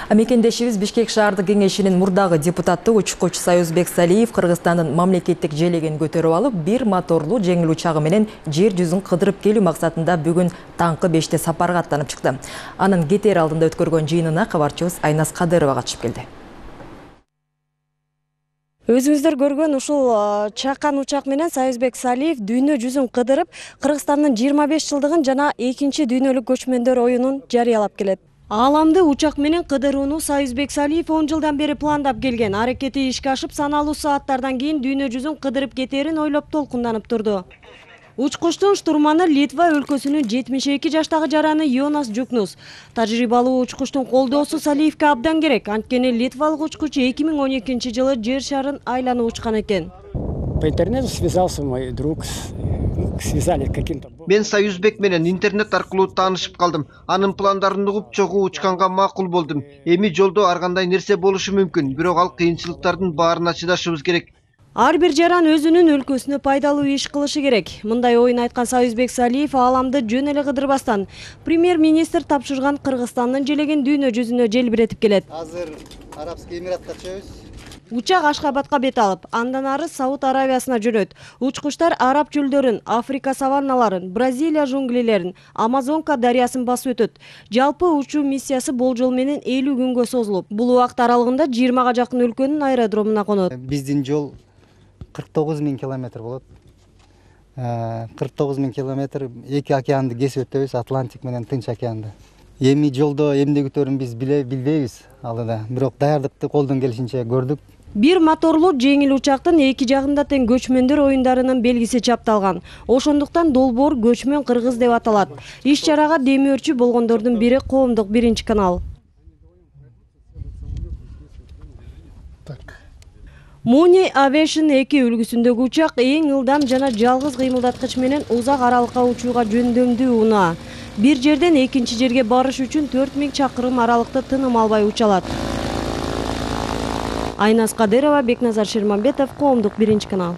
Мекендешибиз Бишкек шаардык кеңешинин мурдагы депутаты учкуч Саюзбек Салиев Кыргызстандын мамлекеттик желегин көтөрүп алып, бир моторлуу жеңил учагы менен жер жүзүн кыдырып келүү максатында бүгүн таңкы 5-те сапарга аттанып чыкты. Анын кетер алдында өткөргөн жыйынына кабарчыбыз Айназ Кадырова катышып келди. Өзүңүздөр көргөн ушул чакан учак менен Саюзбек Салиев дүйнө жүзүн кыдырып, Кыргызстандын 25 жылдыгын жана экинчи дүйнөлүк көчмөндөр оюнун жарыялап келет. Ааламды учак менен кыдырууну Саюзбек Салиев 10 жылдан бери пландап келген. Аракети ишке ашып, саналуу сааттардан кийин дүйнө жүзүн кыдырып кетерин ойлоп толкунданып турду. Учкучтун штурманы Литва өлкөсүнүн 72 жаштагы жараны Йонас Жукнус. Тажрыйбалуу учкучтун колдоосу Салиевке абдан керек. Анткени литвалык учкуч 2012 жылы жер шарын айланып учкан экен. По интернету связался мой друг, связали каким-то. Мен Саюзбек менен интернет аркылуу таанышып калдым. Анын пландарын угуп, чогуу учканга макул болдум. Эми жолдо ар кандай нерсе болушу мүмкүн, бирок ал кыйынчылыктардын баарына чыдашыбыз керек. Ар бир жаран өзүнүн өлкөсүнө пайдалуу иш кылышы керек. Мындай оюн айткан Саюзбек Салиев ааламды жөн эле кыдырбастан премьер-министр тапшырган Кыргызстандын желегин дүйнө жүзүнө желбиретип келет. Азыр Арабский Эмиратка чыгабыз. Учак Ашкабадка бет алып, андан ары Сауд Аравиясына жөнөт. Учкучтар Араб чөлдөрүн, Африка саванналарын, Бразилия жунглилерин, Амазонка дарыясын басып өтөт. Жалпы учуу миссиясы болжол менен 50 күнгө созулуп, бул убакыт аралыгында 20га жакын өлкөнүн аэродромуна конот. Биздин жол 49 000 километр болот. 49 000 километр эки океанды кесип өтөбүз, Атлантик менен Тынч океанды. Эми жолдо эмнегөтөрүн биз билбейбиз алыда, бирок даярдыкты колдон келишинче көрдүк. Бир моторлуу жеңил учактын эки жагында тең көчмөндөр оюндарынын белгиси чапталган. Ошондуктан долбоор көчмөн кыргыз деп аталат. Иш чарага демөөрчү болгондордун бири коомдук 1 канал. Muni Aviation 2 үлгүсүндөгү учак эң ылдам жана жалгыз кыймылдаткыч менен узак аралыкка учууга жөндөмдүү унаа. Бир жерден экинчи жерге барыш үчүн 4000 чакырым аралыкты тыным албай уча алат. Айназ Кадырова, Бекназар Шермамбетов, коомдук 1 канал.